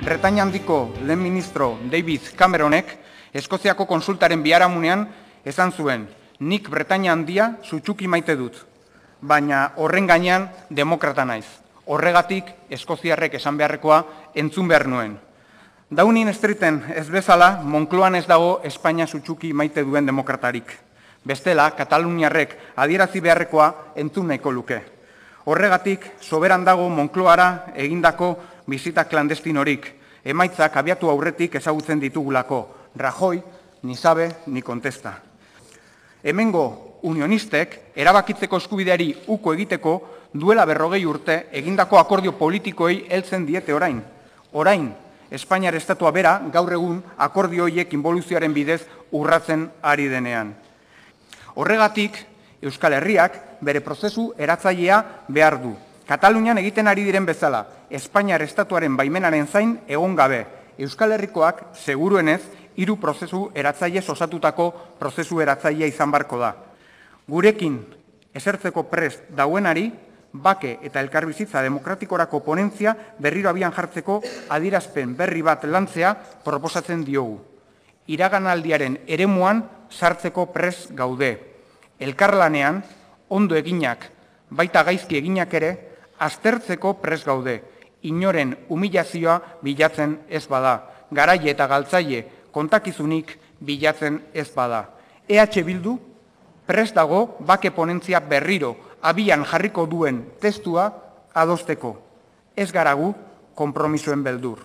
Bretainia handiko lehen ministro David Cameronek Eskoziako konsultaren biharamunean esan zuen, nik Bretainia handia sutsuki maite dut, baina horren gainean demokrata naiz. Horregatik eskoziarrek esan beharrekoa entzun behar nuen. Downing Streeten ez bezala, Moncloan ez dago Espainia sutsuki maite duen demokratarik. Bestela, Kataluniarrek adierazi beharrekoa entzun nahiko luke. Horregatik, soberan dago Moncloara egindako bizita klandestinorik, emaitzak abiatu aurretik ezagutzen ditugulako, Rajoy ni sabe ni contesta. Hemengo unionistek erabakitzeko eskubideari uko egiteko duela 40 urte egindako akordio politikoei heltzen diete orain. Orain, Espainiar estatua bera gaur egun akordio horiek inboluzioaren bidez urratzen ari denean. Horregatik, Euskal Herriak bere prozesu eratzailea behar du. Katalunian egiten ari diren bezala, Espainiar estatuaren baimenaren zain egon gabe, Euskal Herrikoak seguruenez 3 prozesu eratzaile osatutako prozesu eratzailea izan barko da. Gurekin esertzeko prest dauenari, bake eta elkarbizitza demokratikorako ponentzia berriro abian jartzeko adierazpen berri bat lantzea proposatzen diogu. Iraganaldiaren eremuan sartzeko prest gaude. Elkarlanean, ondo eginak, baita gaizki eginak ere, aztertzeko prest gaude. Inoren humilazioa bilatzen ez bada. Garaile eta galtzaile kontakizunik bilatzen ez bada. EH Bildu prest dago bake ponentzia berriro abian jarriko duen testua adosteko. Ez gara gu konpromisoen beldur.